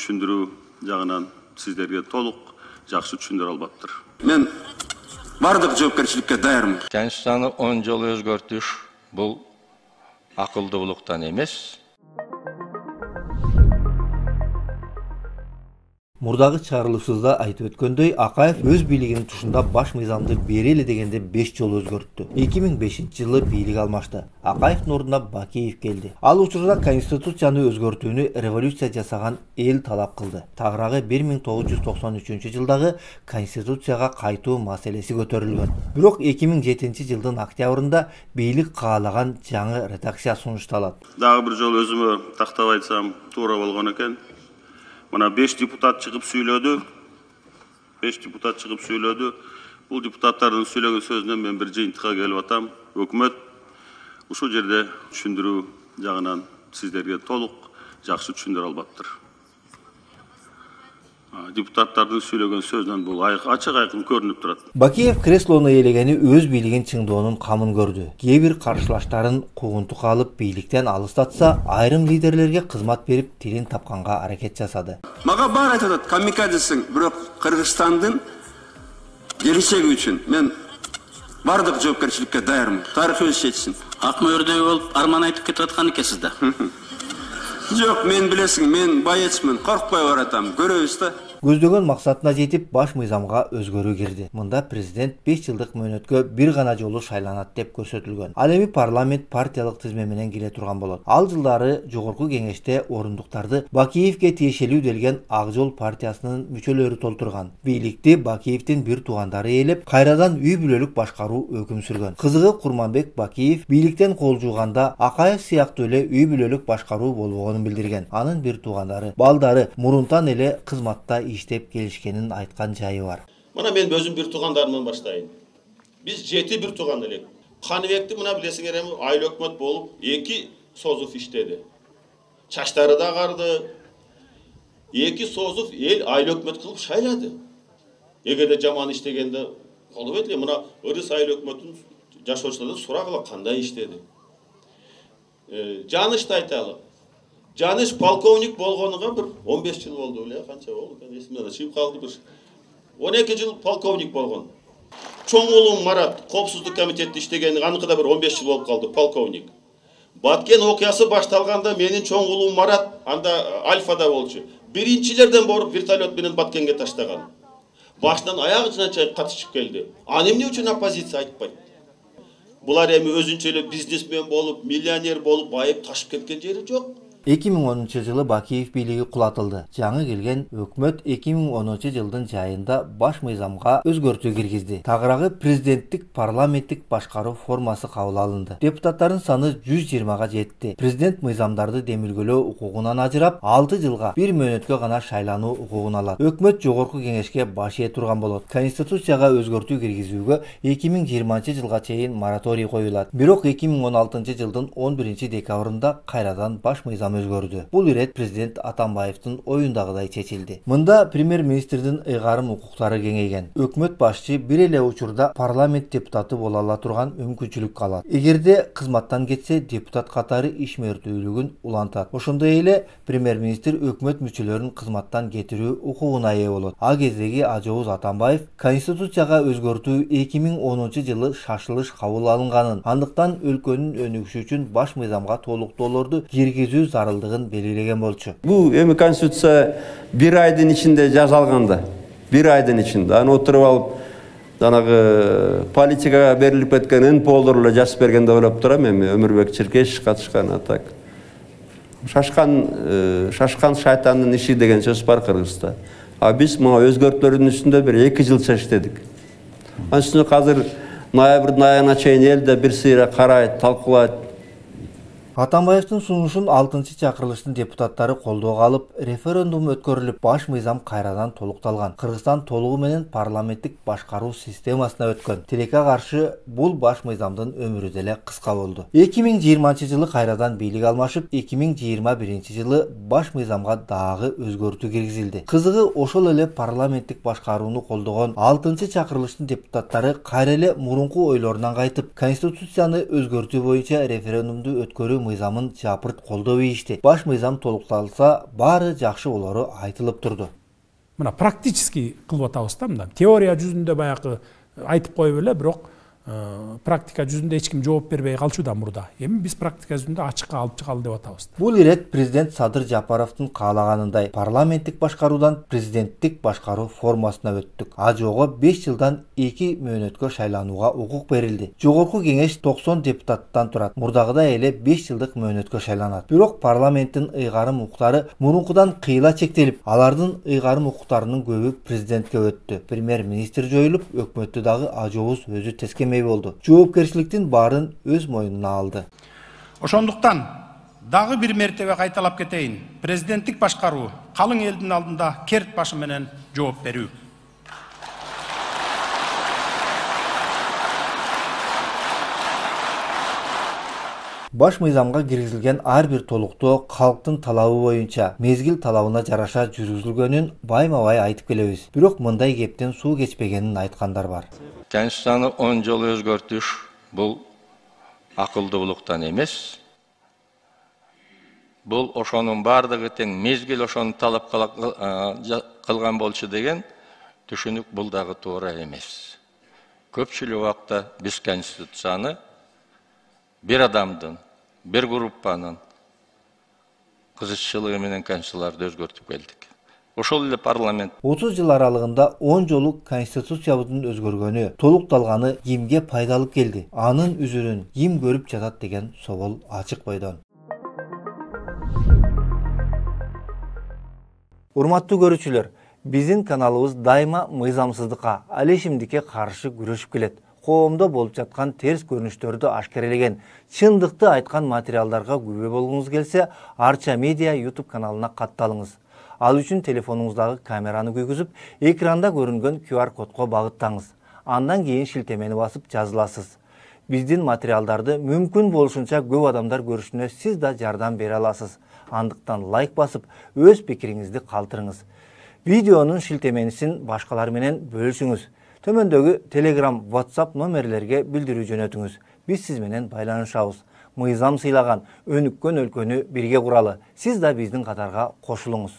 түшүндүрүү жагынан сиздерге толук жакшы түшүндүрө албаптыр. Мен бардык жоопкерчиликке даярмын. Конституцияны 10 жолу өзгөртүш бул акылдуулуктан эмес. Мурдагы чыгарылышыбызда айтып өткөндөй, Акаев өз бийлигинин тушунда баш мыйзамды берели дегенде 5 жолу өзгөрттү. 2005-жылы бийлик алмашты. Акаевдин ордуна Бакиев келди. Ал учурда конституцияны өзгөртүүнү революция жасаган эл талап кылды. Тагыраагы 1993-жылдагы конституцияга кайтуу маселеси көтөрүлгөн. Бирок 2007-жылдын октябрында бийлик каалаган жаңы редакция сунушталат. Дагы бир жолу өзүмө тактап айтсам туура болгон экен. Мына 5 депутат чыгып сүйлөдү. 5 депутат чыгып сүйлөдү. Бул депутаттардын сүйлөгөн сөзүнөн мен бир жыйынтыкка келип атам. Өкмөт ушул жерде түшүндүрүү жагынан сиздерге толук жакшы түшүндүрө албаптыр. Депутаттардын сүйлөгөн сөзүнөн бул ачык айкын көрүнүп турат. Бакиев креслону ээлегени өз бийлигин чыңдоонун камын көрдү. Кээ бир каршылаштарын куугунтукка алып бийликтен алыстатса, айрым лидерлерге кызмат берип тилин тапканга аракет жасады. Мага баары айтып атат, камикадесиң, бирок Кыргызстандын келечеги үчүн мен бардык жоопкерчиликке даярмын. Тарых өз чечсин. Ак мөөрдөй болуп арман айтып кетип аткан экенсиз да. Жок, мен билесиң, мен байечмин, коркпой баратам. Көрөбүз да. Көздөгөн максатына жетип баш мыйзамга өзгөрүү кирди. Мында президент 5 жылдык мөөнөткө бир гана жолу шайланат деп көрсөтүлгөн. Ал эми парламент партиялык тизме менен кире турган болот. Ал жылдары жогорку кеңеште орундуктарды Бакиевке тиешелүү делген Ак Жол партиясынын мүчөлөрү толтурган. Бийликти Бакиевдин бир туугандары ээлеп, кайрадан үй бүлөлүк башкаруу өкүм сүргөн. Кызыгы Курманбек Бакиев бийликтен кол жууганда Акаев сыяктуу эле үй бүлөлүк башкаруу болбогонун билдирген. Анын бир туугандары, балдары мурунтан эле кызматта иштеп келишкенин айткан жайы бар. Мына мен өзүм бир туугандарымдан баштайын. Биз 7 бир тууган элек. Каныбекти мына билесиңер эми айыл өкмөт болуп 2 Созов иштеди. Чачтары да агарды. 2 Созов эл айыл өкмөт кылып шайлады. Эгерде жаман иштегенде болбойт эле. Мына Ырыс айыл өкмөтүн жашоочулардан сурагыла кандай иштеди. Жанышты айталы. Жаныш полковник болгонуга бир 15 жыл болду эле, канча болду? Эсимден чыгып калды бир. 12 жыл полковник болгон. Чоң уулум Марат коопсуздук комитетте иштеген, аныкы да бир 15 жыл болуп калды, полковник. Баткен окуясы башталганда менин чоң уулум Марат анда Альфада болчу. Биринчилерден боруп вертолет менен Баткенге таштаган. Башынан аягына чейин катышып келди. Аны эмне үчүн оппозиция айтпайт? Булар эми өзүнчө эле бизнесмен болуп, миллионер болуп, байып ташып кеткен жери жок. 2010-жылы Бакиев бийлиги кулатылды. Жаңы келген өкмөт 2010-жылдын жайында баш мыйзамга өзгөртүү киргизди. Тагыраагы президенттик парламенттик башкаруу формасы кабыл алынды. Депутаттардын саны 120га жетти. Президент мыйзамдарды демилгөлөө укугунан ажырап, 6 жылга бир мөөнөткө гана шайлануу укугун алат. Өкмөт жогорку кеңешке баш ээ турган болот. Конституцияга өзгөртүү киргизүүгө 2020-жылга чейин мораторий коюлат. Бирок 2016-жылдын 11-декабрында кайрадан баш мыйзам өзгөрдү. Бул ирет президент Атамбаевдин оюндагыдай чечилди. Мында премьер-министрдин ыйгарым укуктары кеңейген. Өкмөт башчы бир эле учурда парламент депутаты боло ала турган мүмкүнчүлүк алат. Эгерде кызматтан кетсе, депутат катары ишмердүүлүгүн улантат. Ошондой эле премьер-министр өкмөт мүчөлөрүн кызматтан кетирүү укугуна ээ болот. А кездеги Ажооз Атамбаев Конституцияга өзгөртүү 2010-жылы шашылыш кабыл алынганын, андыктан өлкөнүн өнүгүшү үчүн баш мыйзамга толуктоолорду киргизүү зарылдыгын белгилеген болчу. Бул эми конституция бир айдын ичинде жасалганда, бир айдын ичинде аны отуруп алып, жанагы политикага берилип кеткен НПОлор эле жазып берген деп ойлоп турам эми. Өмүрбек Черкешев катышкан атак. Шашкан шайтандын иши деген сөз бар Кыргызда. А биз мына өзгөртүүлөрдүн үстүндө бир 2 жылча иштедик. Анын үстүнө азыр ноябрдын айына чейин элде бир сыйра карайт, талкуулайт. Атамбаевдин сунушун 6-чакырылыштын депутаттары колдоого алып, референдум өткөрүлүп, баш мыйзам кайрадан толукталган. Кыргызстан толугу менен парламенттик башкаруу системасына өткөн. Тилекке каршы бул баш мыйзамдын өмүрү деле кыска болду. 2020-жылы кайрадан бийлик алмашып, 2021-жылы баш мыйзамга дагы өзгөртүү киргизилди. Кызыгы ошол эле парламенттик башкарууну колдогон 6-чакырылыштын депутаттары кайра эле мурунку ойлорунан кайтып, конституцияны өзгөртүү боюнча референдумду өткөрүү мыйзамын жапырт колдоо ийишти. Баш мыйзам толукталса, баары жакшы болору айтылып турду. Мына практически кылып атабыз да, мындан. Теория жүзүндө баягы айтып коюп эле, бирок практика жүзүндө эч ким жооп бербей калчууда мурда. Эми биз практика жүзүндө ачыкка алып чыгалы деп атабыз. Бул ирет президент Садыр Жапаровдун каалаганындай парламенттик башкаруудан президенттик башкаруу формасына өттүк. АЖОго 5 жылдан 2 мөөнөткө шайланууга укук берилди. Жогорку кеңеш 90 депутаттан турат. Мурдагыдай эле 5 жылдык мөөнөткө шайланат. Бирок парламенттин ыйгарым укуктары мурункудан кыйла чектелип, алардын ыйгарым укуктарынын көбү президентке өттү. Премьер-министр жоюлуп, өкмөттү дагы АЖОбуз өзү тескемей болду. Жоопкерчиликтин баарын өз мойнуна алды. Ошондуктан дагы бир мертебе кайталап кетейин. Президенттик башкаруу калың элдин алдында керт башы менен жооп берүү. Баш мыйзамга киргизилген ар бир толуктоо калктын талабы боюнча мезгил талабына жараша жүргүзүлгөнүн байма-бай айтып келебиз. Бирок мындай кептен суу кечпегенин айткандар бар. Конституцияны 10 жолу өзгөртүш бул акылдуулуктан эмес. Бул ошонун бардыгы тең мезгил ошону талап кылган болчу деген түшүнүк бул дагы туура эмес. Көпчүлүк убакта биз конституцияны бир адамдын, бир группанын кызыкчылыгы менен конституцияларды өзгөртүп келдик. Ошол эле парламент 30 жыл аралыгында 10 жолу конституциябыздын өзгөргөнү, толукталганы кимге пайдалып келди? Анын үзүрүн ким көрүп жатат деген собол ачык бойдон. Урматтуу көрүүчүлөр, биздин каналыбыз дайыма мыйзамсыздыкка, ал ишимдикке каршы күрөшүп келет. Коомдо болуп жаткан терс көрүнүштөрдү ашкерелеген, чындыкты айткан материалдарга күбө болгуңуз келсе, Арча Медиа YouTube каналына катталыңыз. Ал үчүн телефонуңуздагы камераны күйгүзүп, экранда көрүнгөн QR кодко багыттаңыз. Андан кийин шилтемени басып жазыласыз. Биздин материалдарды мүмкүн болушунча көп адамдар көрүшүнө сиз да жардам бере аласыз. Андыктан лайк басып, өз пикириңизди калтырыңыз. Видеонун шилтеменисин башкалар менен бөлүшүңүз. Төмөндөгү Telegram, WhatsApp номерлерге билдирүү жөнөтүңүз. Биз сиз менен байланышабыз. Мыйзам сыйлаган, өнүккөн өлкөнү бирге куралы. Сиз да биздин катарга кошулуңуз.